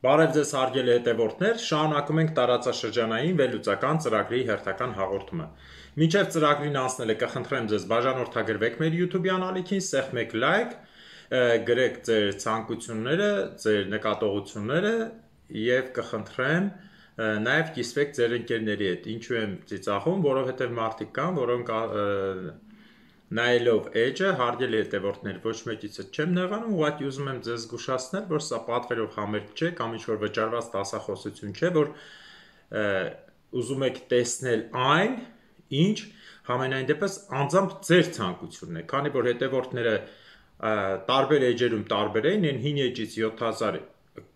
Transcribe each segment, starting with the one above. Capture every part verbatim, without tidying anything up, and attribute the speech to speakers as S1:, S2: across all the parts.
S1: Բարև ձեզ հարգելի հետևորդներ, շարունակում ենք տարածաշրջանային վերլուծական ծրագրի հերթական հաղորդումը։ Մինչև ծրագրին անցնելը կխնդրեմ ձեզ բաժանորդագրվեք մեր YouTube-յան ալիքին, սեղմեք լայք, գրեք ձեր ցանկությունները, ձեր նկատողությունները եւ կխնդրեմ նաեւ կիսվեք ձեր ընկերների հետ։ Ինչու եմ ծիծաղում, որովհետեւ մարդիկ կան, որոնք նայելով էջը, հարգելի հետևորդներ, ոչ մեկիցս չեմ նեղանում, ուղղակի ուզում եմ ձեզ զգուշացնել, որ սա պատվերով համերգ չէ կամ ինչ-որ վճարված դասախոսություն չէ, որ ուզում եք տեսնել այն, ինչ համենայն դեպս անձամբ ձեր ցանկությունն է, քանի որ հետևորդները տարբեր էջերում տարբեր էին, այն հին էջից յոթ հազար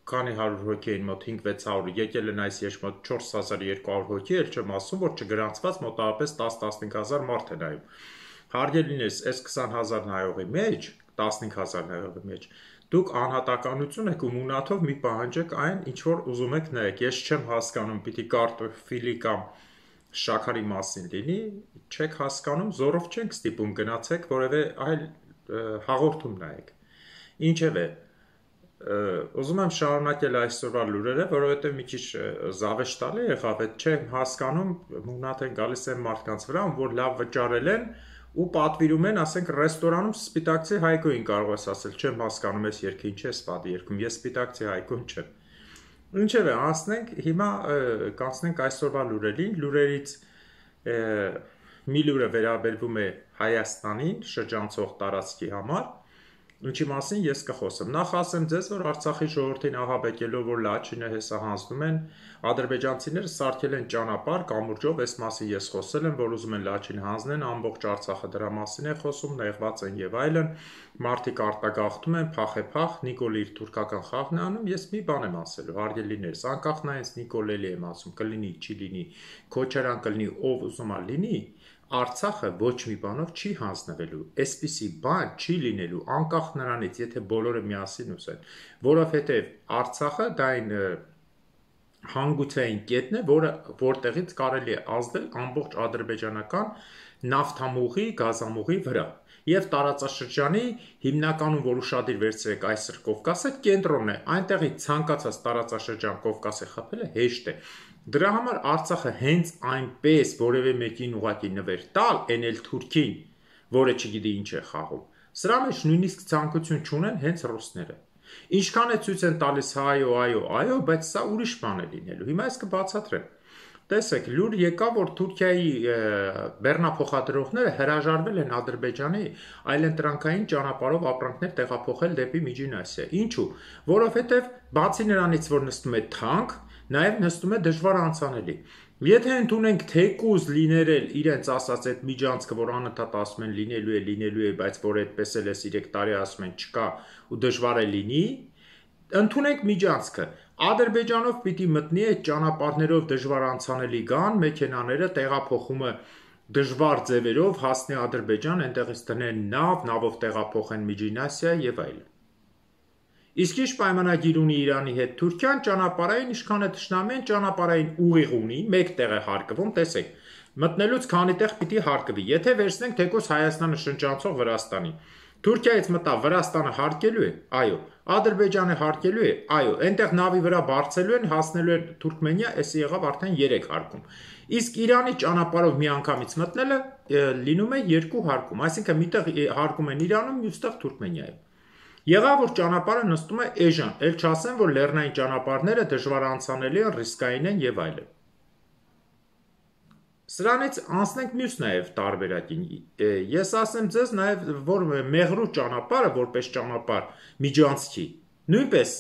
S1: քանի հարյուր հոգի էին, մոտ հինգ-վեց հարյուր, եկել են այս երբ մոտ չորս հազար երկու հարյուր հոգի, էլ չեմ ասում, որ չգրանցված մոտավորապես տասն-տասնհինգ հազար մարդ է նայում։ Հարգելիներս, այս քսան հազար նայողի մեջ, տասնհինգ հազար նայողի մեջ, դուք անհատականություն եք ու մունաթով մի պահանջեք այն, ինչ որ ուզում եք նայեք։ Ես չեմ հասկանում, պիտի կարտոֆիլի կամ շաքարի մասին լինի, չեք հասկանում, զորով չենք ստիպում գնացեք որևէ այլ հաղորդում նայեք։ Ինչևէ, ուզում եմ շարունակել այսօրվա լուրերը, որովհետև մի քիչ զավեշտալի եղավ, չեմ հասկանում, մունաթ են գալիս այն մարդկանց վրա, որ լավ վճարել են ու պատվիրում են, ասենք, ռեստորանում սպիտակցի Հայկոին կարող ես ասել, չեմ հասկանում այս երգը ինչ է սպատի երգում, ես սպիտակցի Հայկոն չեմ։ Ինչևէ, անցնենք, հիմա կանցնենք այսօրվա լուրերին, լուրերից մի լուրը վերաբերվում է Հայաստանին, շրջանցող տարածքի համար, ինչի մասին ես կխոսեմ։ Նախ ասեմ ձեզ, որ Արցախի ժողովրդին ահաբեկելով, որ Լաչինը հեսահանձնում են, ադրբեջանցիները սարքել են ճանապարհ կամուրջով, այս մասին ես խոսել եմ, որ ուզում են Լաչին հանձնեն, ամբողջ Արցախը դրա մասին է խոսում, նեղված են եւ այլն, մարդիկ արտագաղթում են, փախե-փախ, Նիկոլը իր թուրքական խաղն է անում, ես մի բան եմ ասելու, հարգելիներս, անկախ նայենց Նիկոլելի եմ ասում, կլինի, չի լինի, Քոչարյան կլինի, ով ուզում է լինի, Արցախը ոչ մի բանով չի հանձնվելու, այսպիսի բան չի լինելու, անկախ նրանից, եթե բոլորը միասին ուզեն, որովհետև Արցախը դա այն հանգուցային կետն է, որը որտեղից կարելի է ազդել ամբողջ ադրբեջանական նավթամուղի, գազամուղի վրա, եւ տարածաշրջանի հիմնականում, որ ուշադիր վերցրեք այսօր Կովկասը, կենտրոնն է, այնտեղից ցանկացած տարածաշրջան Կովկասի խփելը հեշտ է։ Դրա համար Արցախը հենց այնպես որևէ մեկին ուղղակի նվեր տալ, այն էլ թուրքին, որը չգիտի ինչ է խաղում։ Սրա մեջ նույնիսկ ցանկություն չունեն հենց ռուսները։ Ինչքան է ցույց են տալիս հայո, այո, այո, բայց սա ուրիշ բան է լինելու։ Հիմա ես կբացատրեմ։ Տեսեք, լուր եկա, որ Թուրքիայի բեռնափոխադրողները հրաժարվել են Ադրբեջանի այլընտրանքային ճանապարհով ապրանքներ տեղափոխել դեպի Միջին Ասիա։ Ինչու՞։ Որովհետև բացի նրանից, որ նստում է թանկ, նաև նստում է դժվար անցանելի։ Եթե ընդունենք թեկուզ լիներել իրենց ասած այդ միջանցքը, որ անընդհատ ասում են լինելու է, լինելու է, բայց որ այդպես էլ է երեք տարի ասում են չկա ու դժվար է լինի, ընդունենք միջանցքը։ Ադրբեջանով պիտի մտնի այդ ճանապարհներով դժվար անցանելի գան, մեքենաները տեղափոխումը դժվար ձևերով հասնի Ադրբեջան, այնտեղից դնեն նավ, նավով տեղափոխեն Միջին Ասիա եւ այլն։ Իսկ ինչ պայմանագիր ունի Իրանի հետ Թուրքիան, ճանապարհային ինչքան է թշնամի են, ճանապարհային ուղիղ ունի, մեկ տեղ է հարկվում, տեսեք, մտնելուց քանի տեղ պիտի հարկվի։ Եթե վերցնենք թեկուզ Հայաստանը շրջանցող Վրաստանի, Թուրքիայից մտա Վրաստանը հարկելու է, այո, Ադրբեջանը հարկելու է, այո, այնտեղ նավի վրա բարձելու են, հասնելու են Թուրքմենիա, էսի եղավ արդեն երեք հարկում։ Իսկ Իրանի ճանապարհով մի անգամից մտնելը լինում է երկու հարկում, այսինքն միտեղ հարկում են Իրանում, մյուստեղ Թուրքմենիայում։ Եղավ, որ ճանապարհը նստում է էժան, էլ չասեմ, որ լեռնային ճանապարհները դժվար անցանելի են, ռիսկային են եւ այլն։ Սրանից անցնենք մյուս նաև տարբերակին։ Ես ասեմ ձեզ նաև, որ Մեղրու ճանապարհը, որպես ճանապարհ միջանցքի, նույնպես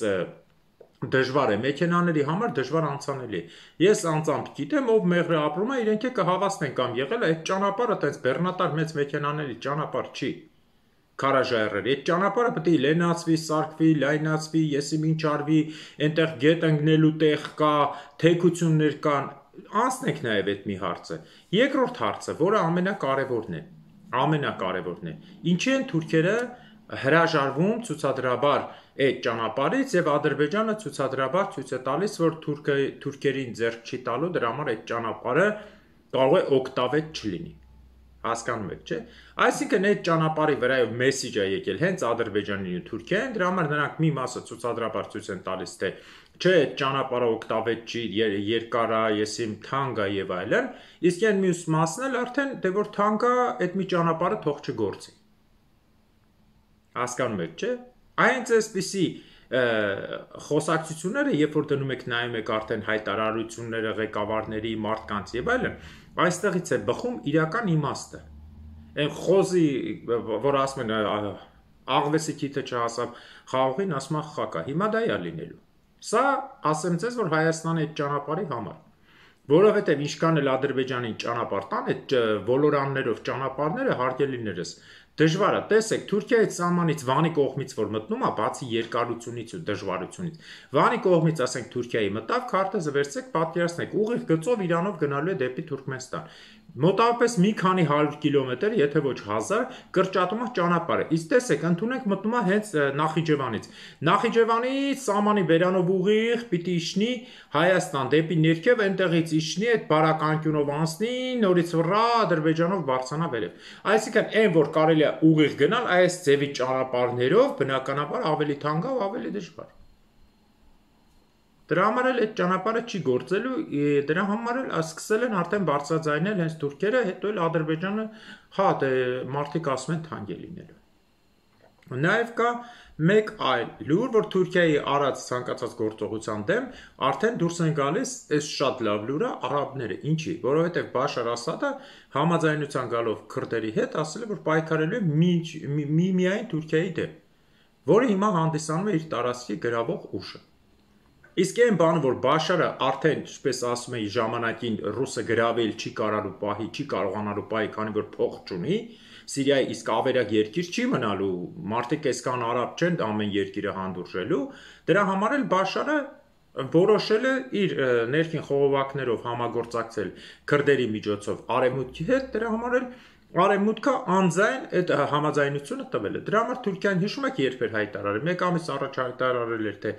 S1: դժվար է, մեքենաների համար դժվար անցանելի է։ Ես անձամբ գիտեմ, ով Մեղրը ապրում է, իրենք է կհավաստեն կամ եղել է, այդ ճանապարհը տես բեռնատար մեծ մեքենաների ճանապարհ չի։ Քարաժայռեր, այդ ճանապարհը պետք է լենացվի, սարքվի, լայնացվի, եսի ինչ արվի, այնտեղ գետ ընկնելու տեղ կա, թեքություններ կան, անցնենք նաև այդ մի հարցը։ Երկրորդ հարցը, որը ամենակարևորն է, ամենակարևորն է, ինչի են թուրքերը հրաժարվում ցուցադրաբար այդ ճանապարհից եւ Ադրբեջանը ցուցադրաբար ցույց է տալիս, որ թուրքը թուրքերին ձեռք չի տալու, դրա համար այդ ճանապարհը կարող է օկտավետ չլինի։ Հասկանում եք, չէ՞։ Այսինքն այդ ճանապարհի վրայով մեսիջը եկել հենց Ադրբեջանին ու Թուրքիային, դրա համար նրանք մի մասը ցուցադրաբար ցույց են տալիս, թե չէ, այդ ճանապարհը օգտավետ չի, երկար է, եսիմ թանկ է եւ այլն, իսկ այն մյուս մասն էլ արդեն դե որ թանկ է, այդ մի ճանապարհը թող չգործի։ Հասկանում եք, չէ՞։ Այնց էսպիսի խոսակցությունները, երբ որ դնում եք նայում եք արդեն հայտարարությունները ղեկավարների, մարդկանց եւ այլն, այստեղից է բխում իրական իմաստը։ Այն խոզի, որ ասում են աղվեսի քիթը չհասավ խաղողին, ասում է խակա, հիմա դա է լինելու։ Սա ասեմ ձեզ, որ Հայաստանի այդ ճանապարհի համար, որովհետև ինչքան էլ Ադրբեջանին ճանապարհ տան, այդ ոլորաններով ճանապարհները հարգելիներս դժվար է, տեսեք, Թուրքիայի սահմանից Վանի կողմից որ մտնում է, բացի երկարությունից ու դժվարությունից, Վանի կողմից, ասենք, Թուրքիայի մտավ, քարտեզը վերցրեք, պատկերացնեք, ուղիղ գծով Իրանով գնալու է դեպի Թուրքմենստան։ Մոտավորապես մի քանի հարյուր կիլոմետր, եթե ոչ հազար, կրճատում է ճանապարհը։ Իսկ տեսեք, ընդունենք մտնում է հենց Նախիջևանից։ Նախիջևանի սահմանի բերանով ուղիղ պիտի իջնի Հայաստան դեպի ներքև, այնտեղից իջնի այդ բարականկյունով անցնի, նորից վրա Ադրբեջանով բարձրանա վերև։ Այսինքն, այն որ կարելի է ուղիղ գնալ, այս ձևի ճանապարհներով բնականաբար ավելի թանկ է, ավելի դժվար։ Դրա համար էլ այդ ճանապարհը չի գործելու, դրա համար էլ սկսել են արդեն բարձրաձայնել հենց թուրքերը, հետո էլ Ադրբեջանը, հա, դե մարդիկ ասում են թանկ է լինելու։ Նաև կա մեկ այլ լուր, որ Թուրքիայի արած ցանկացած գործողության դեմ արդեն դուրս են գալիս, այս շատ լավ լուրը, արաբները, ինչի, որովհետև Բաշար Ասադը համաձայնության գալով քրդերի հետ ասել է, որ պայքարելու է մի միայն Թուրքիայի դեմ, որը հիմա հանդիսանում է իր տարածքի գրավող ուժը։ Իսկ այն բանը, որ Բաշարը արդեն, ինչպես ասում էի, ժամանակին ռուսը գրավել չի կարալու պահի, չի կարողանալու պահի, քանի որ փող չունի, Սիրիայի իսկ ավերակ երկիր չի մնալու, մարդիկ այսքան արաբ չեն ամեն երկիրը հանդուրժելու, դրա համար էլ Բաշարը որոշել է իր ներքին խողովակներով համագործակցել քրդերի միջոցով արևմուտքի հետ, դրա համար էլ Արևմուտքը անձայն այդ համաձայնությունը տվել է։ Դրա համար Թուրքիան հիշում եք երբ էր հայտարարել, մեկ ամիս առաջ հայտարարել էր, թե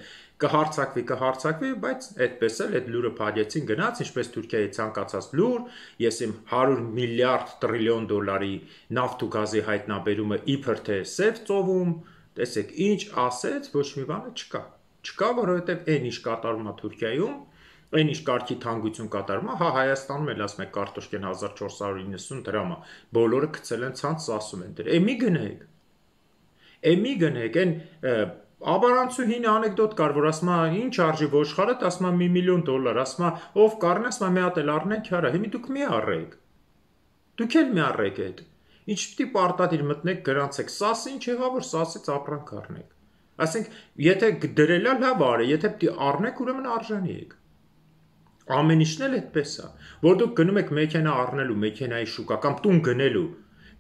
S1: կհարցակվի, կհարցակվի, բայց այդպես էլ այդ լուրը փակեցին գնաց, ինչպես Թուրքիայի ցանկացած լուր, ես իմ հարյուր միլիարդ տրիլիոն դոլարի նավթ ու գազի հայտնաբերումը իբր թե սև ծովում, տեսեք, ինչ ասեց, ոչ մի բանը չկա։ Չկա, որովհետև այն ինչ կատարում է Թուրքիայում, այն ինչ կարգի թանկություն կատարում է, հա Հայաստանում էլ ասում եք կարտոշկեն հազար չորս հարյուր իննսուն դրամ է, բոլորը գցել են ցանց, ասում են դեր։ Է մի գնեք։ Է մի գնեք, այն Աբարանցուհին անեկդոտ կար, որ ասում է ինչ արժի ոչխարը, ասում է մի միլիոն դոլար, ասում է ով կառնի, ասում է մի հատ էլ առնենք, հարա, հիմա դուք մի առեք։ Դուք էլ մի առեք այդ։ Ինչ պիտի պարտադիր մտնեք գրանցեք, սաս ինչ եղավ, որ սասից ապրանք առնեք։ Ասենք, եթե դրելա լավ արի, եթե պիտի առնեք, ուրեմն արժանի եք։ Ամեն ինչն էլ այդպես է, որ դուք գնում եք մեքենա առնելու, մեքենայի շուկա կամ տուն գնելու,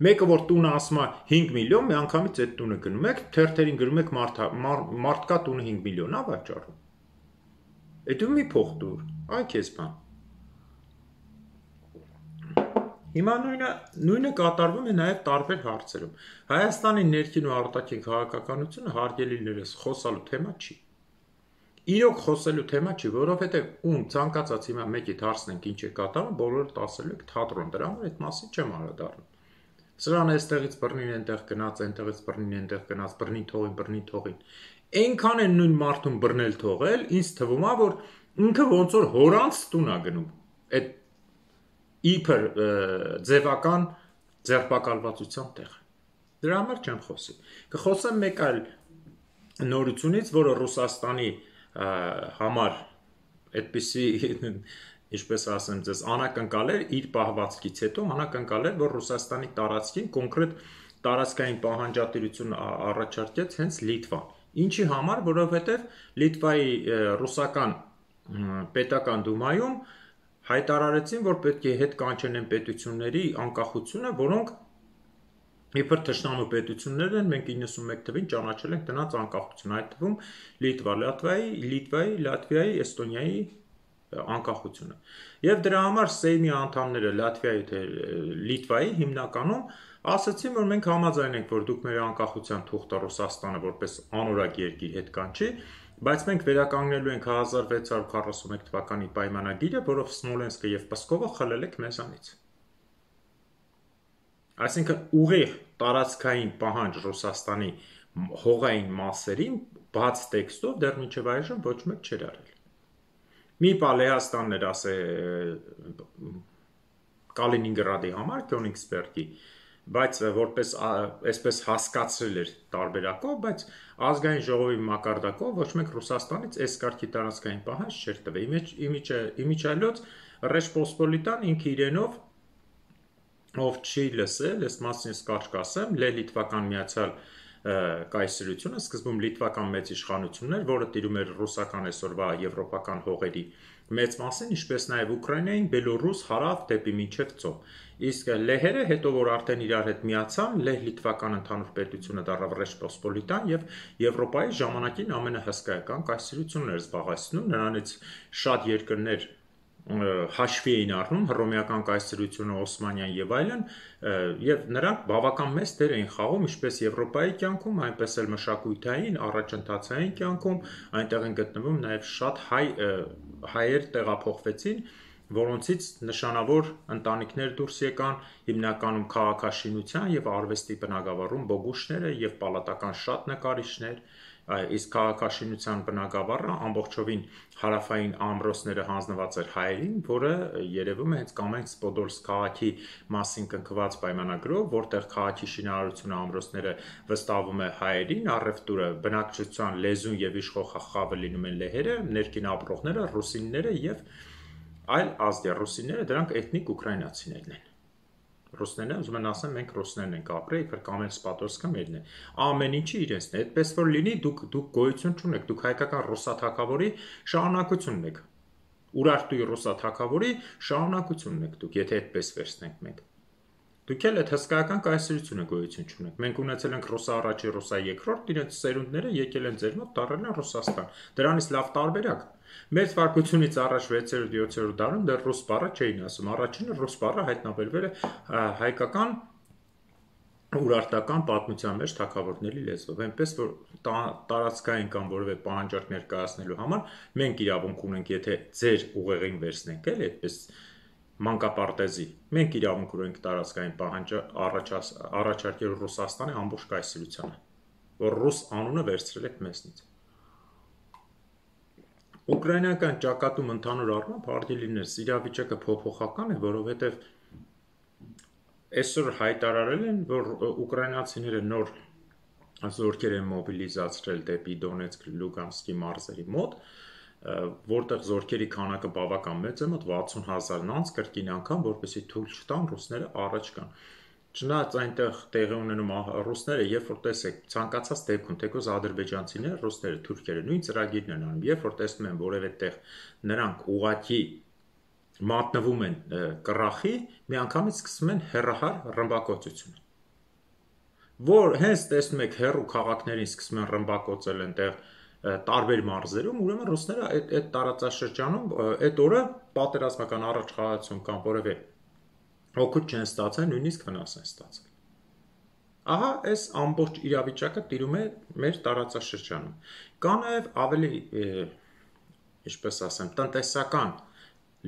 S1: մեկը որ տունը ասում է հինգ միլիոն, մի անգամից այդ տունը գնում եք, թերթերին գրում եք մարդկա տունը հինգ միլիոն է վաճառում։ Այդ ու մի փող դուր, այ քեզ բան։ Հիմա նույնը նույնը կատարվում է նաև տարբեր հարցերում։ Հայաստանի ներքին ու արտաքին քաղաքականությունը հարգելիներս խոսալու թեմա չի։ Իրոք խոսելու թեմա չի, որովհետև ում ցանկացած հիմա մեկիդ հարցնենք ինչ է կատարում, բոլորը ասելու եք թատրոն, դրա համար այդ մասին չեմ անդրադառնում։ Սրան այստեղից բռնին այնտեղ գնաց, այնտեղից բռնին այնտեղ գնաց, բռնին թողին, բռնին թողին։ Այնքան են նույն մարդուն բռնել թողել, ինձ թվում է, որ ինքը ոնց որ հորանց տուն է գնում։ Այդ իբր ձևական ձերբակալվածության տեղ։ Դրա համար չեմ խոսի։ Կխոսեմ մեկ այլ նորությունից, որը Ռուսաստանի համար այդպիսի, ինչպես ասեմ ձեզ, անակնկալ էր իր պահվածքից հետո, անակնկալ էր, որ Ռուսաստանի տարածքին կոնկրետ տարածքային պահանջատիրություն առաջարկեց հենց Լիտվան։ Ինչի համար, որովհետև Լիտվայի ռուսական պետական դումայում հայտարարեցին, որ պետք է հետ կանչեն են պետությունների անկախությունը, որոնք իբր թշնամու պետություններ են, մենք իննսունմեկ թվին ճանաչել ենք դրանց անկախություն, այդ թվում Լիտվա, Լատվիայի, Լիտվայի, Լատվիայի, Էստոնիայի անկախությունը։ Եվ դրա համար Սեյմի անդամները Լատվիայի թե Լիտվայի հիմնականում ասացին, որ մենք համաձայն ենք, որ դուք մեր անկախության թուղթը Ռուսաստանը որպես անորակ երկիր հետ կանչի, բայց մենք վերականգնելու ենք հազար վեց հարյուր քառասունմեկ թվականի պայմանագիրը, որով Սմոլենսկը եւ Պսկովը խլել եք մեզանից։ Այսինքն ուղիղ տարածքային պահանջ Ռուսաստանի հողային մասերին բաց տեքստով դեռ մինչև այժմ ոչ մեկ չէր արել։ Մի բա Լեհաստանն էր ասե Կալինինգրադի համար Կյոնիգսբերգի, բայց որպես այսպես հասկացրել էր տարբերակով, բայց ազգային ժողովի մակարդակով ոչ մեկ Ռուսաստանից այս կարգի տարածքային պահանջ չէր տվել։ Իմիջիայլոց Ռեժպոսպոլիտան ինքը իրենով ով չի լսել, այս մասին ես կարճ կասեմ, Լեհ-Լիտվական միացյալ կայսրությունը սկզբում լիտվական մեծ իշխանությունն էր, որը տիրում էր ռուսական այսօրվա եվրոպական հողերի մեծ մասին, ինչպես նաև Ուկրաինային, Բելոռուս, հարավ դեպի մինչև ծով։ Իսկ լեհերը հետո որ արդեն իրար հետ միացան, Լեհ-Լիտվական ընդհանուր պետությունը դառավ Ռեժպոսպոլիտան եւ Եվրոպայի ժամանակին ամենահսկայական կայսրությունն էր զբաղեցնում, նրանից շատ երկրներ հաշվի էին առնում հռոմեական կայսրությունը, Օսմանյան եւ այլն, եւ նրանք բավական մեծ դեր էին խաղում ինչպես Եվրոպայի կյանքում, այնպես էլ մշակութային, առաջընթացային կյանքում, այնտեղ են գտնվում նաեւ շատ հայ հայեր տեղափոխվեցին, որոնցից նշանավոր ընտանիքներ դուրս եկան, հիմնականում քաղաքաշինության եւ արվեստի բնագավառում բոգուշները եւ պալատական շատ նկարիչներ, իսկ քաղաքաշինության բնագավառը ամբողջովին հարավային ամրոցները հանձնված էր հայերին, որը երևում է հենց Կամենսկ-Պոդոլսկ քաղաքի մասին կնքված պայմանագրով, որտեղ քաղաքի շինարարությունը ամրոցները վստահվում է հայերին, առևտուրը, բնակչության, լեզուն եւ իշխող խավը լինում են լեհերը, ներքին ապրողները ռուսինները եւ այլ ազգեր, ռուսինները դրանք էթնիկ ուկրաինացիներն են։ Ռուսներն ուզում են ասեն մենք ռուսներն ենք ապրել, իբր Կամենսկ-Պոդոլսկը մերն է։ Ամեն ինչի իրենցն է, այդպես որ լինի, դուք դուք գոյություն չունեք, դուք հայկական ռուսաթագավորի շարունակությունն եք։ Ուրարտուի ռուսաթագավորի շարունակությունն եք դուք, եթե այդպես վերցնենք մենք։ Դուք էլ այդ հսկայական կայսրությունը գոյություն չունեք։ Մենք ունեցել ենք ռուսա առաջի, ռուսա երկրորդ, իրենց ծերունդները եկել են ձեր մոտ, դառել են Ռուսաստան։ Դրանից լավ տարբերակ։ Մեր վարկությունից առաջ վեցերորդ յոթերորդ դարում դեռ ռուս բառը չէին ասում։ Առաջինը ռուս բառը հայտնաբերվել է հայկական ուրարտական պատմության մեջ թագավորների լեզվով, այնպես որ տարածքային կամ որևէ պահանջարկ ներկայացնելու համար մենք իրավունք ունենք, եթե ձեր ուղեղին վերցնենք, էլ այդպես մանկապարտեզի, մենք իրավունք ունենք տարածքային պահանջը առաջարկել Ռուսաստանի ամբողջ կայսրությանը, որ ռուս անունը վերցրել եք մեզնից։ Ուկրաինական ճակատում ընդհանուր առմամբ հարկ է լինել, իրավիճակը փոփոխական է, որովհետև այսօր հայտարարել են, որ ուկրաինացիները նոր զորքեր են մոբիլիզացրել դեպի Դոնեցկ, Լուգանսկի մարզերի մոտ, որտեղ զորքերի քանակը բավական մեծ է, մոտ վաթսուն հազարն անց կրկին անգամ, որպեսզի թույլ չտան ռուսները առաջ գան։ Չնայած այնտեղ տեղի ունենում ռուսները, երբ որ տեսեք ցանկացած դեպքում, թեկուզ ադրբեջանցիները, ռուսները, թուրքերը նույն ծրագիրն են անում, երբ որ տեսնում են որևէ տեղ նրանք ուղղակի մատնվում են կռախի, միանգամից սկսում են հեռահար ռմբակոծությունը։ Որ հենց տեսնում եք հեռու քաղաքներին սկսում են ռմբակոծել այնտեղ տարբեր մարզերում, ուրեմն ռուսները այդ այդ տարածաշրջանում այդ օրը պատերազմական առաջխաղացում կամ որևէ օգուտ չեն ստացել, նույնիսկ վնաս են ստացել։ Ահա այս ամբողջ իրավիճակը տիրում է մեր տարածաշրջանում։ Կա նաև ավելի, ինչպես ասեմ, տնտեսական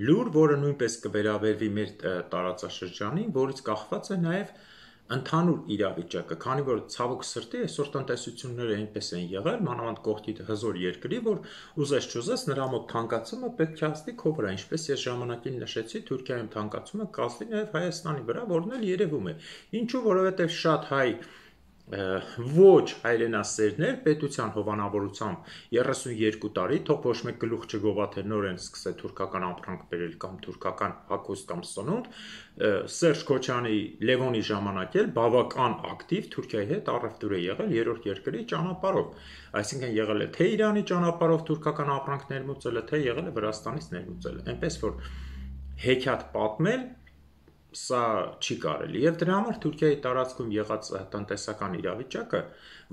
S1: լուր, որը նույնպես կվերաբերվի մեր տարածաշրջանին, որից կախված է նաև ընդհանուր իրավիճակը, քանի որ ցավոք սրտի այսօր տնտեսությունները այնպես են եղել, մանավանդ կողքի հզոր երկրի, որ ուզես չուզես նրա մոտ թանկացումը պետք է հասնի քո վրա, ինչպես ես ժամանակին նշեցի, Թուրքիայում թանկացումը կազմի նաև Հայաստանի վրա, որն էլ երևում է։ Ինչու, որովհետև շատ հայ ոչ հայրենասերներ պետության հովանավորությամբ երեսունյերկու տարի, թող ոչ մեկ գլուխ չգովա թե նոր են սկսել թուրքական ապրանք բերել կամ թուրքական հագուստ կամ սնունդ, Սերժ Քոչյանի Լևոնի ժամանակ էլ բավական ակտիվ Թուրքիայի հետ առևտուր է եղել երրորդ երկրի ճանապարհով, այսինքն եղել է թե Իրանի ճանապարհով թուրքական ապրանք ներմուծելը, թե եղել է Վրաստանից ներմուծելը, այնպես որ հեքիաթ պատմել սա չի կարելի եւ դրա համար Թուրքիայի տարածքում եղած տնտեսական իրավիճակը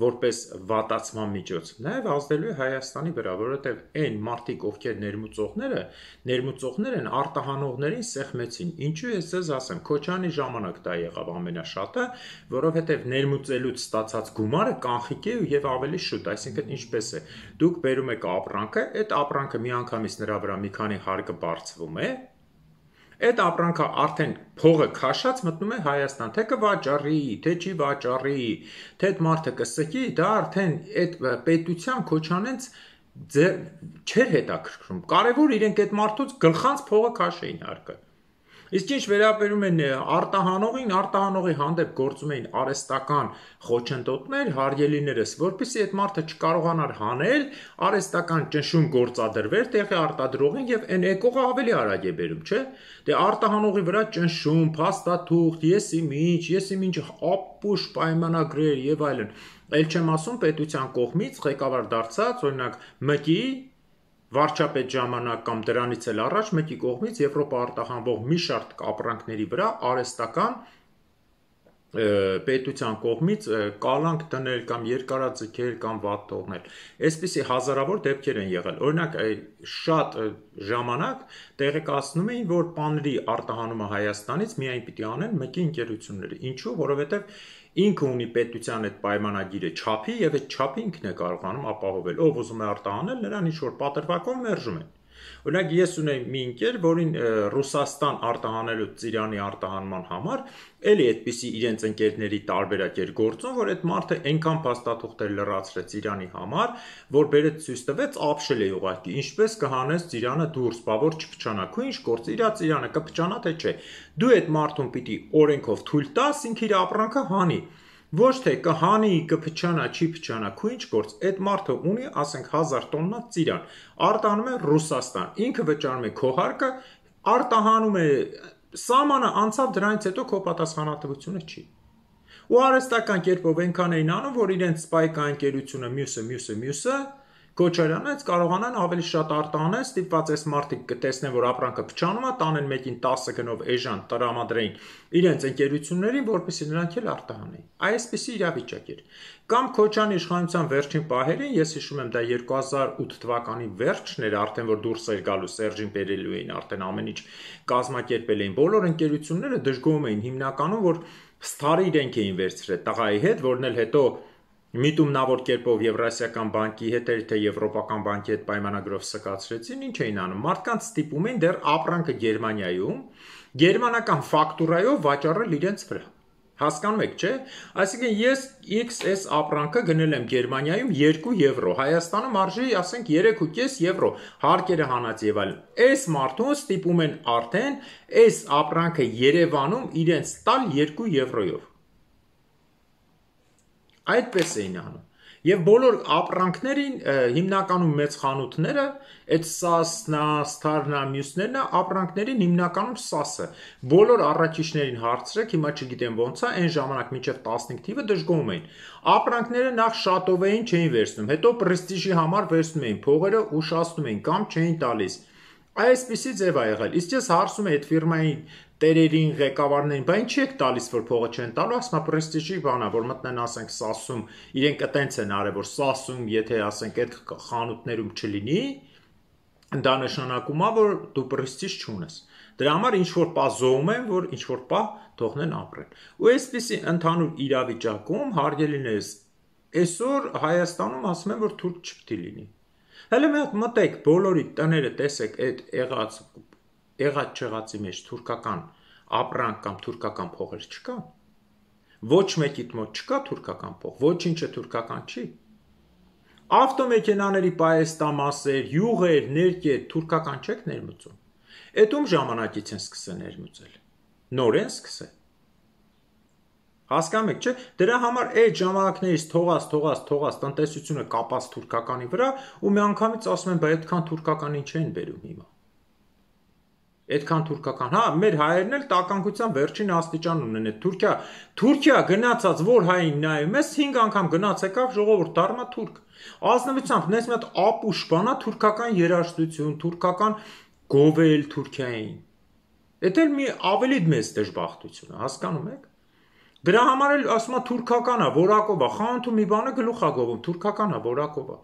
S1: որպես վատացման միջոց նաեւ ազդելու է Հայաստանի վրա, որովհետեւ այն մարդիկ, ովքեր ներմուծողները, ներմուծողներ են արտահանողներին սեղմեցին։ Ինչու ես ձեզ ասեմ, Քոչյանի ժամանակ դա եղավ ամենաշատը, որովհետեւ ներմուծելուց ստացած գումարը կանխիկ է եւ ավելի շուտ, այսինքն ինչպես է, դուք բերում եք ապրանքը, այդ ապրանքը միանգամից նրա վրա մի քանի հարկը բարձվում է, Այդ ապրանքը արդեն փողը քաշած մտնում է Հայաստան, թե կվաճառի, թե չի վաճառի, թե այդ մարդը կսկի, դա արդեն այդ պետության քոչանենց չէր հետաքրքրում։ Կարևոր իրենք այդ մարդուց գլխանց փողը քաշեին հարկը։ Իսկ ինչ վերաբերում են արտահանողին, արտահանողի հանդեպ գործում էին արհեստական խոչընդոտներ, հարգելիներս, որպեսզի այդ մարդը չկարողանար հանել, արհեստական ճնշում գործադրվեր տեղի արտադրողին եւ այն եկողը ավելի արագ է բերում, չէ՞։ Դե արտահանողի վրա ճնշում, փաստաթուղթ, եսի միջ, եսի միջ ապուշ պայմանագրեր եւ այլն։ Էլ չեմ ասում պետության կողմից ղեկավար դարձած, օրինակ ՄԿ-ի վարչապետ ժամանակ կամ դրանից էլ առաջ մեկի կողմից Եվրոպա արտահանվող մի շարք ապրանքների վրա արհեստական պետության կողմից կալանք դնել կամ երկարաձգել կամ վատ թողնել։ Այսպիսի հազարավոր դեպքեր են եղել։ Օրինակ շատ ժամանակ տեղեկացնում էին, որ պանրի արտահանումը Հայաստանից միայն պիտի անեն ՄԿ-ի ընկերությունները։ Ինչու՞, որովհետև ինքը ունի պետության այդ պայմանագիրը չափի եւ այդ չափը ինքն է կարողանում ապահովել։ Ով ուզում է արտահանել, նրան ինչ որ պատրվակով մերժում են։ Օրինակ ես ունեի մի ընկեր, որին Ռուսաստան արտահանելու ծիրանի արտահանման համար էլի այդպիսի իրենց ընկերների տարբերակ էր գործում, որ այդ մարդը այնքան փաստաթուղթեր լրացրեց Իրանի համար, որ բերեց ցույց տվեց ապշել է ուղղակի, ինչպես կհանես ծիրանը դուրս, բա որ չփչանա, քո ինչ գործ, իրա ծիրանը կփչանա թե չէ։ Դու այդ մարդուն պիտի օրենքով թույլ տաս, ինքը իր ապրանքը հանի։ Ոչ թե կհանի, կփչանա, չի փչանա, քո ինչ գործ, այդ մարդը ունի, ասենք հազար տոննա ծիրան, արտահանում է Ռուսաստան, ինքը վճարում է քո հարկը, արտահանում է սահմանը անցավ, դրանից հետո քո պատասխանատվությունը չի։ Ու արհեստական կերպով այնքան էին անում, որ իրենց սպայկա ընկերությունը մյուսը, մյուսը, մյուսը Քոչարյանից կարողանան ավելի շատ արտահանել, ստիպված այս մարդիկ կտեսնեն, որ ապրանքը փչանում է, տանեն մեկին տասը գնով էժան տրամադրեին իրենց ընկերություններին, որպեսզի նրանք էլ արտահանեին։ Այսպիսի իրավիճակ էր։ Կամ Քոչարյանի իշխանության վերջին պահերին, ես հիշում եմ, դա երկու հազար ութ թվականի վերջն էր, արդեն որ դուրս էր գալու Սերժին բերելու էին, արդեն ամեն ինչ կազմակերպել էին։ Բոլոր ընկերությունները դժգոհում էին հիմնականում, որ սթարը իրենք էին վերցրել տղայի հետ, որն էլ հետո միտումնավոր կերպով Եվրասիական բանկի հետ թե Եվրոպական բանկի հետ պայմանագրով սկացրեցին, ինչ էին անում։ Մարդկանց ստիպում էին դեռ ապրանքը Գերմանիայում գերմանական ֆակտուրայով վաճառել իրենց վրա։ Հասկանում եք, չէ՞։ Այսինքն ես X S ապրանքը գնել եմ Գերմանիայում երկու եվրո, Հայաստանում արժի, ասենք երեք ու կես եվրո, հարկերը հանած եւ այլն։ Այս մարդուն ստիպում են արդեն այս ապրանքը Երևանում իրենց տալ երկու եվրոյով։ Այդպես էին անում։ Եվ բոլոր ապրանքներին հիմնականում մեծ խանութները, այդ սասնա, սթարնա, մյուսներն ապրանքներին հիմնականում սասը։ Բոլոր առաքիչներին հարցրեք, հիմա չգիտեմ ոնց է, այն ժամանակ մինչև տասնհինգ թիվը դժգոհում էին։ Ապրանքները նախ շատով էին չէին վերցնում, հետո պրեստիժի համար վերցնում էին, փողերը ուշացնում էին կամ չէին տալիս։ Այսպիսի ձև է եղել։ Իսկ ես հարցում եմ այդ ֆիրմայի տերերին, ղեկավարներին, բա ինչի եք տալիս, որ փողը չեն տալու, ասում է պրեստիժի բան է, որ մտնեն, ասենք, Սասում, իրենք այտենց են արել, որ Սասում, եթե ասենք այդ խանութներում չլինի, դա նշանակում է, որ դու պրեստիժ չունես։ Դրա համար ինչ որ պահ զոհում են, որ ինչ որ պահ թողնեն ապրեն։ Ու այսպիսի ընդհանուր իրավիճակում հարգելիներս, այսօր Հայաստանում ասում են, որ թուրք չպետք է լինի։ Հələ մի հատ մտեք բոլորի տները տեսեք այդ եղած եղած չեղածի մեջ թուրքական ապրանք կամ թուրքական փողեր չկա։ Ոչ մեկիդ մոտ չկա թուրքական փող, ոչինչը թուրքական չի։ Ավտոմեքենաների պայեստամասեր, յուղեր, ներկեր թուրքական չեք ներմուծում։ Այդ ում ժամանակից են սկսել ներմուծել։ Նոր են սկսել։ Հասկանում եք, չէ՞։ Դրա համար այդ ժամանակներից թողած, թողած, թողած տնտեսությունը կապած թուրքականի վրա ու մի անգամից ասում են, բայց այդքան թուրքականին չեն բերում հիմա։ Այդքան թուրքական, հա, մեր հայերն էլ տականկության վերջին աստիճան ունեն այդ Թուրքիա, Թուրքիա գնացած որ հային նայում ես հինգ անգամ գնաց եկավ ժողովուրդ դառնա թուրք։ Ազնվությամբ նես մի հատ ապուշ բանա թուրքական երաժշտություն, թուրքական գովել Թուրքիային։ Դա էլ մի ավելի մեծ դժբախտություն է, հասկանում եք։ Դրա համար էլ ասում է թուրքական է, որակով է, խանութում մի բանը գլուխ է գովում, թուրքական է, որակով է։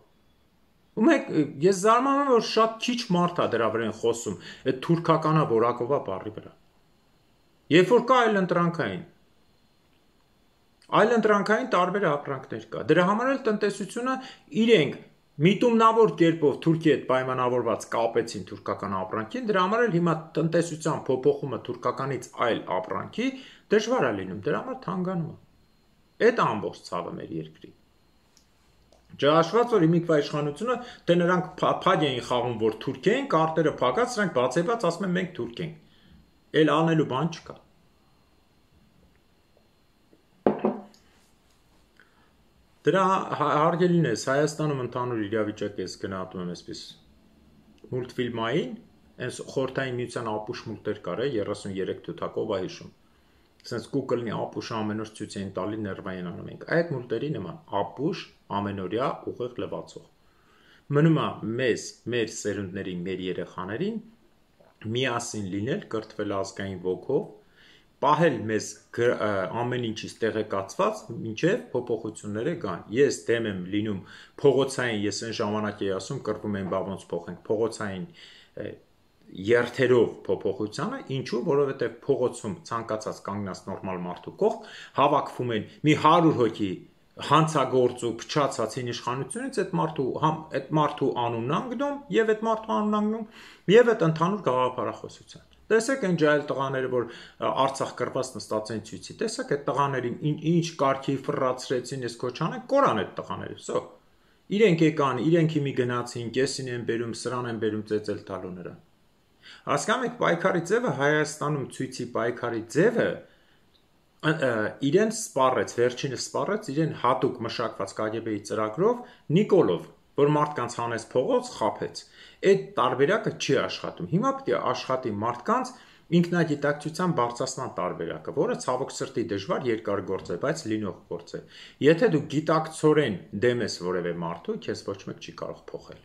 S1: Ու մեկ ես զարմանում եմ, որ շատ քիչ մարդ է դրա վրա խոսում, այդ թուրքականա որակովա բառի վրա։ Երբ որ կա այլ ընտրանքային։ Այլ ընտրանքային տարբեր ապրանքներ կա։ Դրա համար էլ տնտեսությունը իրենք միտումնավոր կերպով Թուրքիի հետ պայմանավորված կապեցին թուրքական ապրանքին, դրա համար էլ հիմա տնտեսության փոփոխումը թուրքականից այլ ապրանքի դժվար է լինում, դրա համար թանկանում է։ Այդ ամբողջ ցավը մեր երկրի։ Չհաշված որ հիմիկվա իշխանությունը դե նրանք փակ էին խաղում, որ թուրք էին, կարտերը փակած, նրանք բացեբաց ասում են մենք թուրք ենք։ Էլ անելու բան չկա։ Դրա հարգելինես Հայաստանում ընդհանուր իրավիճակը ես գնահատում եմ այսպես մուլտֆիլմային, այս խորհրդային միության ապուշ մուլտեր կար է երեսուններեք թութակով ա հիշում։ Սենց Google-ի ապուշը ամեն օր ցույց էին տալի ներվային անում ենք։ Այդ մուլտերի նման ապուշ ամենօրյա ուղիղ լվացող։ Մնում է մեզ, մեր սերունդների, մեր երեխաներին միասին լինել, կրթվել ազգային ոգով, պահել մեզ ամեն ինչից տեղեկացված, մինչև փոփոխությունները կան։ Ես դեմ եմ լինում փողոցային, ես այն ժամանակ էի ասում, կռվում են բա ոնց փոխենք, փողոցային երթերով փոփոխությանը, ինչու, որովհետև փողոցում ցանկացած կանգնած նորմալ մարդու կողք հավաքվում են մի հարյուր հոգի հանցագործ ու փչացածին իշխանությունից այդ մարդու համ այդ մարդու անունն անգնում եւ այդ մարդու անունն անգնում եւ այդ ընդհանուր գաղափարախոսության։ Տեսեք այն ջահել տղաները, որ Արցախ կռված նստած են ցույցի, տեսեք այդ տղաներին ինչ կարգի ֆռացրեցին, ես քոչան են կորան այդ տղաները, սո։ Իրենք եկան, իրենք հիմի գնացին, կեսին են բերում, սրան են բերում ծեծել տալու նրան։ Հասկանում եք պայքարի ձևը Հայաստանում ցույցի պայքարի ձևը իրեն սպառեց, վերջինը սպառեց իրեն հատուկ մշակված Կ Գ Բ-ի ծրագրով Նիկոլով, որ մարդկանց հանեց փողոց, խաբեց։ Այդ տարբերակը չի աշխատում։ Հիմա պետք է աշխատի մարդկանց ինքնագիտակցության բարձրացման տարբերակը, որը ցավոք սրտի դժվար երկար գործ է, բայց լինող գործ է։ Եթե դու գիտակցորեն դեմ ես որևէ մարդու, քեզ ոչ մեկ չի կարող փոխել։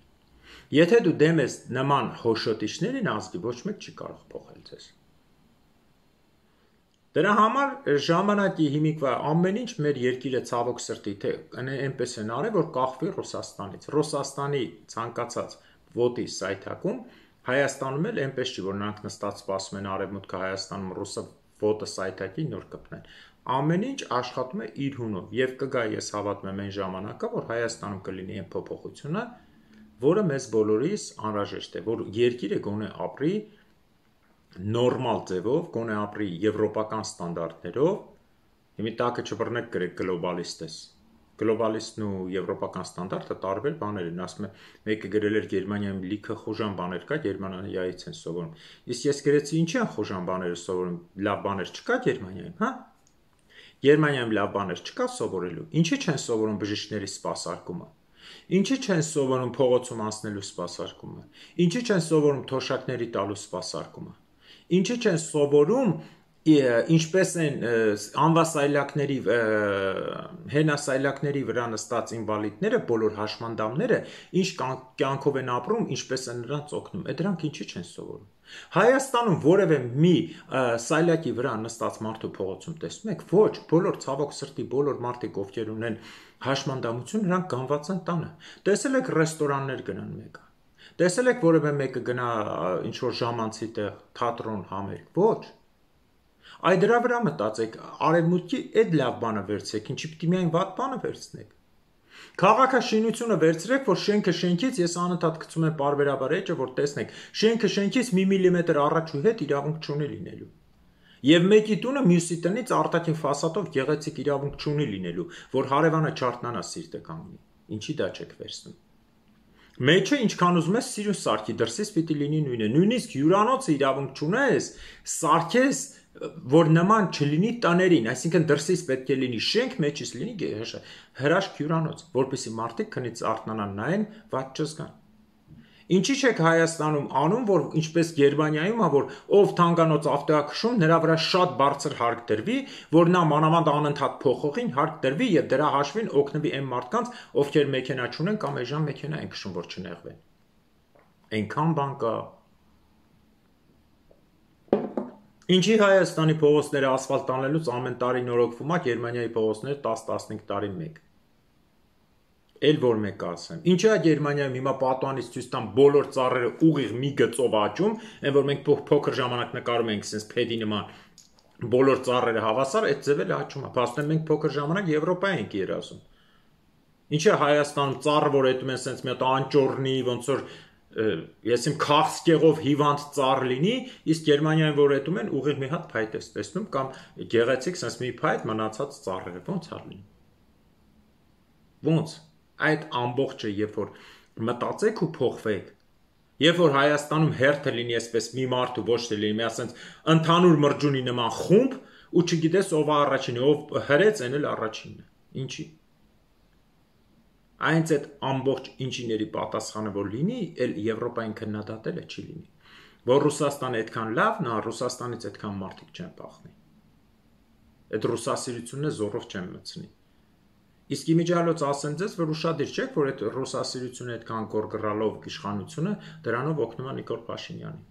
S1: Եթե դու դեմ ես նման հոշոտիչներին ազգի, ոչ մեկ չի կարող փոխել ձեզ։ Դրա համար ժամանակի հիմիկվա ամեն ինչ մեր երկիրը ցավոք սրտի թե այնպես են արել, որ կախվի Ռուսաստանից։ Ռուսաստանի ցանկացած ոտի սայթակում Հայաստանում էլ այնպես չի, որ նրանք նստած սպասում են արևմուտքը Հայաստանում ռուսը ոտը սայթակի նոր կպնեն։ Ամեն ինչ աշխատում է իր հունով եւ կգա ես հավատում եմ այն ժամանակը, որ Հայաստանում կլինի այն փոփոխությունը, որը մեզ բոլորիս անհրաժեշտ է, որ երկիրը գոնե ապրի նորմալ ձևով, գոնե ապրի եվրոպական ստանդարտներով, հիմի տակը չբռնեք գրեք գլոբալիստ ես։ Գլոբալիստն ու եվրոպական ստանդարտը տարբեր բաներ են, ասում է մեկը գրել էր Գերմանիայում լիքը խոժան բաներ կա, Գերմանիայից են սովորում։ Իսկ ես գրեցի ինչի են խոժան բաները սովորում, լավ բաներ չկա Գերմանիայում, հա։ Գերմանիայում լավ բաներ չկա սովորելու։ Ինչի չեն սովորում բժիշկների սպասարկումը։ Ինչի չեն սովորում փողոցում անցնելու սպասարկումը։ Ինչի չեն սովորում թոշակների տալու սպասարկումը։ Ինչի չեն սովորում ինչպես են անվասայլակների հենասայլակների վրա նստած ինվալիդները, բոլոր հաշմանդամները, ինչ կյանքով են ապրում, ինչպես են նրանց օգնում, այդ դրանք ինչի չեն սովորում։ Հայաստանում որևէ մի սայլակի վրա նստած մարդու փողոցում տեսնում եք, ոչ, բոլոր ցավոք սրտի բոլոր մարդիկ, ովքեր ունեն հաշմանդամություն, նրանք գանված են տանը։ Տեսել եք ռեստորաններ գնան մեկը։ Տեսել եք որևէ մեկը գնա ինչ-որ ժամանցի տեղ, թատրոն, համերգ, ոչ։ Այ դրա վրա մտածեք, արևմուտքի այդ լավ բանը վերցրեք, ինչի պիտի միայն վատ բանը վերցնեք։ Քաղաքաշինությունը վերցրեք, որ շենքը շենքից, ես անընդհատ գցում եմ պարբերաբար էջը, որ տեսնեք, շենքը շենքից մի միլիմետր առաջ ու հետ իրավունք չունի լինելու։ Եվ մեկի տունը մյուսի տնից արտաքին ֆասադով գեղեցիկ իրավունք չունի լինելու, որ հարևանը չարթնանա սիրտը կանգնի։ Ինչի դա չեք վերցնում։ Մեջը ինչքան ուզում ես սիրուն սարքի, դրսից պիտի լինի նույնը։ Նույնիսկ հյուրանոցը իրավունք չունես, սարքես, որ նման չլինի տաներին, այսինքն դրսից պետք է լինի շենք, մեջից լինի հրաշք հյուրանոց, որպեսզի մարդիկ քնից արթնանան նայեն, վատ չզգան։ Ինչի՞ չեք Հայաստանում անում, որ ինչպես Գերմանիայում է, որ ով թանկանոց ավտոյակշում, նրա վրա շատ բարձր հարկ դրվի, որ նա մանավանդ անընդհատ փոխողին հարկ դրվի եւ դրա հաշվին օգնվի այն մարդկանց, ովքեր մեքենա չունեն կամ այժմ մեքենա են քշում, որ չնեղվեն։ Այնքան բան կա։ Ինչի Հայաստանի փողոցները ասֆալտ անելուց ամեն տարի նորոգվում է, Գերմանիայի փողոցները տաս-տասնհինգ տարի մեկ։ Էլ որ մեկ ասեմ։ Ինչի է Գերմանիայում հիմա պատուանից ցույց տան բոլոր ծառերը ուղիղ մի գծով աճում, այն որ մենք փոքր ժամանակ նկարում ենք sense փեդի նման բոլոր ծառերը հավասար, այդ ձևը աճում է։ Փաստորեն մենք փոքր ժամանակ Եվրոպա ենք երազում։ Ինչ է Հայաստանում ծառը, որ հետում են սենց մի հատ անճոռնի, ոնց որ ես իմ քաղցկեղով հիվանդ ծառ լինի, իսկ Գերմանիայում որ հետում են ուղիղ մի հատ փայտ ես տեսնում կամ գեղեցիկ սենց մի փայտ մնացած ծառերը, ոնց է լինի։ Ոնց այդ ամբողջը երբ որ մտածեք ու փոխվեք, երբ որ Հայաստանում հերթը լինի այսպես մի մարդ ու ոչ թե լինի մի ասենց ընդհանուր մրջունի նման խումբ ու չգիտես ով է առաջինը, ով հրեց, այն էլ առաջինն է։ Ինչի։ Այնց այդ ամբողջ ինչիների պատասխանը որ լինի, էլ Եվրոպային քննադատելը չի լինի, որ Ռուսաստանը այդքան լավն է, Ռուսաստանից այդքան մարդիկ չեն փախնի։ Այդ ռուսասիրությունը զորով չեն մտցնի։ Իսկ իմիջիալոց ասեմ ձեզ, որ ուշադիր չեք, որ այդ ռուսասիրությունը այդքան գորգռալով իշխանությունը դրանով օգնում է Նիկոլ Փաշինյանին։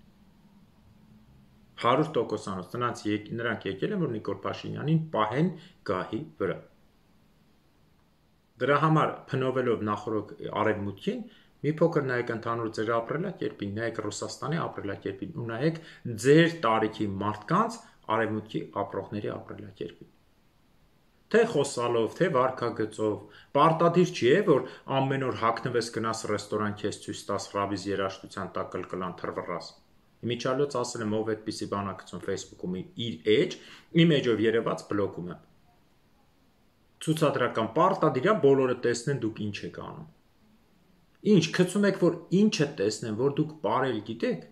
S1: հարյուր տոկոսանոց նրանց նրանք եկել են, որ Նիկոլ Փաշինյանին պահեն գահի վրա։ Դրա համար փնովելով նախորդ արևմուտքին, մի փոքր նայեք ընդհանուր ձեր ապրելակերպին, նայեք Ռուսաստանի ապրելակերպին ու նայեք ձեր տարիքի մարդկանց արևմուտքի ապրողների ապրելակերպին։ Թե խոսալով, թե վարքագծով, պարտադիր չի է, որ ամեն օր հագնվես գնաս ռեստորան քեզ ցույց տաս ռաբիզ երաժշտության տակ կլկլան թռվռաս։ Իմիջիալոց ասել եմ ով այդպիսի բանակցում Facebook-ում իր էջ, իմ էջով երևաց բլոկում եմ։ Ցուցադրական պարտադիր է բոլորը տեսնեն դուք ինչ եք անում։ Ինչ գցում եք, որ ինչը տեսնեն, որ դուք ապրել գիտեք,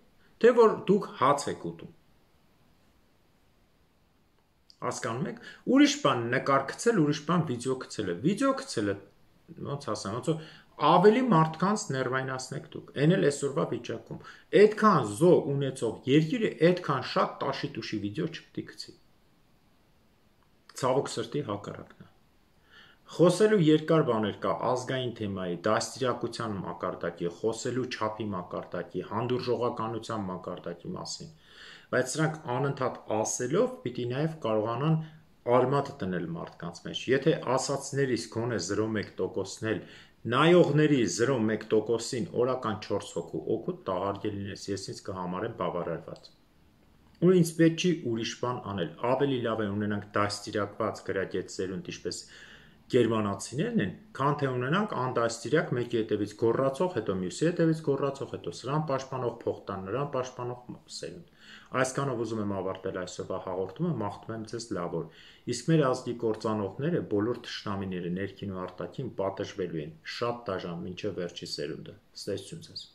S1: թե որ դուք հաց եք ուտում։ Հասկանում եք, ուրիշ բան նկար գցել, ուրիշ բան վիդեո գցելը, վիդեո գցելը, ոնց ասեմ, ոնց որ ավելի մարդկանց ներվայնացնեք դուք, այն էլ այսօրվա վիճակում, այդքան զո ունեցող երկիրը այդքան շատ տաշի տուշի վիդեո չպետք է գցի։ Ցավոք սրտի հակառակն է։ Խոսելու երկար բաներ կա ազգային թեմայի, դաստիարակության մակարդակի, խոսելու չափի մակարդակի, հանդուրժողականության մակարդակի մասին, բայց սրանք անընդհատ ասելով պիտի նաև կարողանան արմատը տնել մարդկանց մեջ։ Եթե ասածներից գոնե զրո մեկ տոկոսն էլ նայողների զրո մեկ տոկոսին օրական չորս հոգու օգուտ տաղարգել լինես, ես ինձ կհամարեմ բավարարված։ Ու ինձ պետք չի ուրիշ բան անել, ավելի լավ է ունենանք դաստիարակված գրագետ սերունդ, ինչպես գերմանացիներն են, քան թե ունենանք անդաստիարակ մեկի հետևից գոռացող, հետո մյուսի հետևից գոռացող, հետո սրան պաշտպանող փոխտան, նրան պաշտպանող սերունդ։ Այսքանով ուզում եմ ավարտել այսօրվա հաղորդումը, մաղթում եմ ձեզ լավ օր։ Իսկ մեր ազգի կործանողները, բոլոր թշնամիները ներքին ու արտաքին պատժվելու են շատ դաժան մինչև վերջի սերունդը։ Ստեսություն ձեզ։